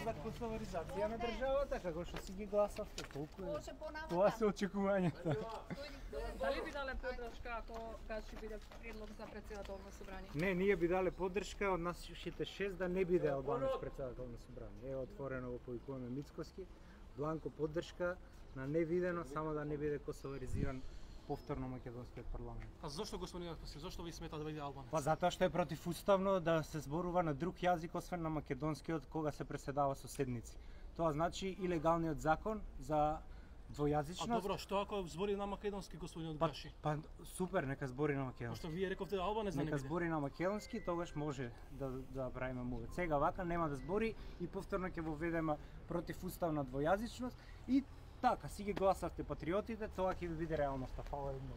за косоваризација на државата, како што си ги гласавте, толку е. Може понатаму. Тоа се очекувањата. Дали би дале поддршка ако ќе биде предлог за претседателно собрание? Не, ние би дале поддршка од нашите 6 да не биде Албанец претседател на собрание. Е отворено во повикуваме Мицкоски. Бланко поддршка на невидено, само да не биде косоваризиран повторно македонскиот парламент. А зошто господин Јаспаси, зошто ви смета да биде Албанец? Па затоа што е противуставно да се зборува на друг јазик освен на македонскиот кога се преседава со седници. Тоа значи илегалниот закон за двојазичност. А добро, што ако збори на македонски господин Одгаши? Па супер, нека збори на македонски. Пошто вие рековте Албанец да не Нека биде. збори на македонски, тогаш може да правиме мувет. Сега вака нема да збори и повторно ќе воведеме противуставна двојазичност и така си ги гласавте патриотите, тоа ќе ви биде реалноста. Фала едно.